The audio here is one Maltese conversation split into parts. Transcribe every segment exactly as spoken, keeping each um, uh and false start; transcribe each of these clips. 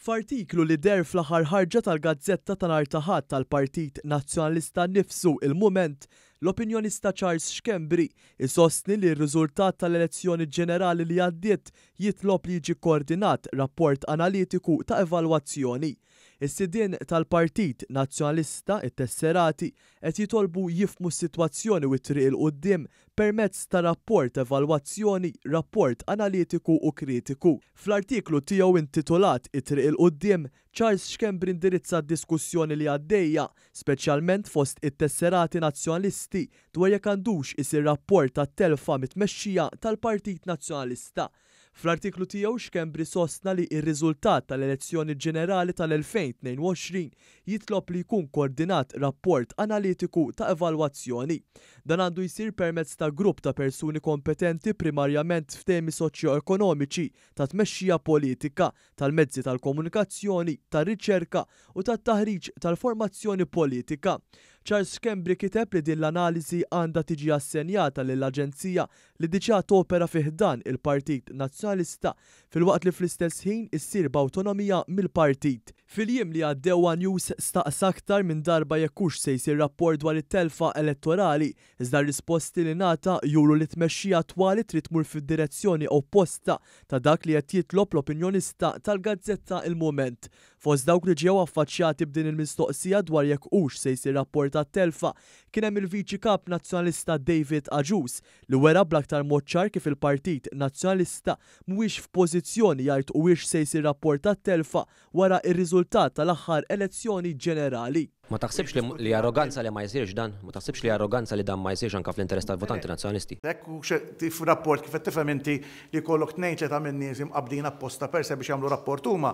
F'artiklu li deher fl-aħħar ħarġa tal-gazzetta ta' nhar ta' Ħadd tal-Partit Nazzjonalista nnifsu, Il-Mument, l-opinjonista Charles Schembri isostni li r-riżultat tal-elezzjoni ġenerali li għaddiet jitlob li jiġi koordinat rapport analitiku ta' evalwazzjoni. Is-sidien tal-Partit Nazzjonalista, it-tesserati, qed jitolbu jifhmu s-sitwazzjoni u t-triq 'il quddiem permezz ta' rapport evalwazzjoni, rapport analitiku u kritiku. Fl-artiklu tiegħu intitolat "It-triq 'il quddiem", Charles Schembri indirizza d-diskussjoni li għaddejja, speċjalment fost it-tesserati nazzjonalisti, dwar jekk għandux isir rapport tat-telfa mit-tmexxija tal-Partit Nazzjonalista. Fl-artiklu tiegħu, Schembri sostna li r-riżultat tal-elezzjoni ġenerali tal-elfejn u tnejn u għoxrin jitlob li jkun koordinat rapport analitiku ta' evalwazzjoni. Dan għandu jsir permezz ta' grupp ta' persuni kompetenti, primarjament f'temi soċjo-ekonomiċi, ta' tmexxija politika, tal-mezzi tal-komunikazzjoni, tar-riċerka u tat-taħriġ tal-formazzjoni politika. Charles Schembri kiteb li din l-analiżi għandha tiġi assenjata lill-aġenzija li diġà topera fi ħdan il-Partit Nazzjonalista, filwaqt li fl-istess ħin issir b'awtonomija mill-partit. Fil-jiem li għaddew, News staqsa aktar minn darba jekk hux se jsir rapport dwar it-telfa elettorali, iżda risposti li ngħata juru li tmexxija attwali trid tmur fid-direzzjoni opposta ta' dak li qed jitlob l-opinjonista tal-gazzetta Il-Mument. Fost dawk li ġew affaċċjati b'din il-mistoqsija dwar jekk hux se jsir rapport tat-telfa kien hemm il-Viċi Kap Nazzjonalista David Agius, li wera bl-aktar mod ċar kif il-Partit Nazzjonalista mhuwiex f'pożizzjoni jgħid huwiex se jsir rapport tat-telfa wara ir-riżultat tal-aħħar elezzjoni ġenerali. Ma taħsibx li, li arroganza li ma jsirx dan? Ma taħsibx li arroganza li dan ma jsirx anka fl-interess tal-votanti nazzjonalisti? Hekk hu rapport kif qed tifhem inti li jkollok tnejn, tlieta minn nies imqabbdin apposta per se biex jagħmlu rapport huma,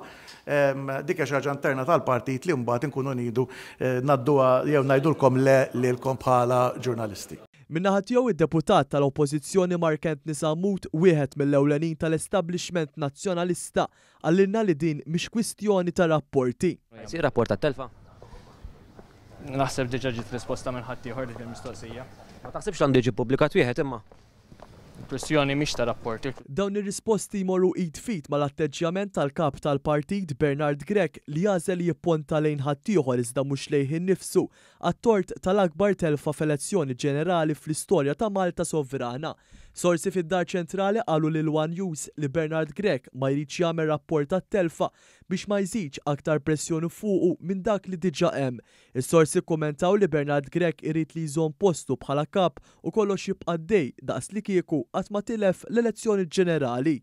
dik xi ħaġa interna tal-partit li mbagħad inkunu nidu eh, ngħadduha jew ngħidulkom le lilkom bħala ġurnalisti. Min-naħa tiegħu, id-deputat tal-Oppożizzjoni Mark Anthony Sammut, wieħed mill-ewlenin tal-establishment nazzjonalista, qalilna li din mhix kwistjoni ta' rapporti. Jsir rapport tat-telfa? Naħseb diġà ġiet risposta minn ħaddieħor dik il-mistoqsija. Ma taħsibx għandu jiġi ppubblikat wieħed imma? Kwistjoni mhix ta' rapporti. Dawn ir-risposti jmorru id f'id mal-atteġġjament tal-kap tal-partit Bernard Grech, li għażel jipponta lejn ħaddieħor iżda mhux lejh innifsu għat-tort tal-akbar telfa f'elezzjoni ġenerali fl-istorja ta' Malta sovrana. Sorsi fid-Dar Ċentrali qalu lil One News li Bernard Grech ma jridx jagħmel rapport tat-telfa biex ma jżidx aktar pressjoni fuqu minn dak li diġà hemm. Is-sorsi kummentaw li Bernard Grech irid li jżomm postu bħala kap u kollox jibqa' dej daqs li kieku qatt ma tilef l-elezzjoni ġenerali.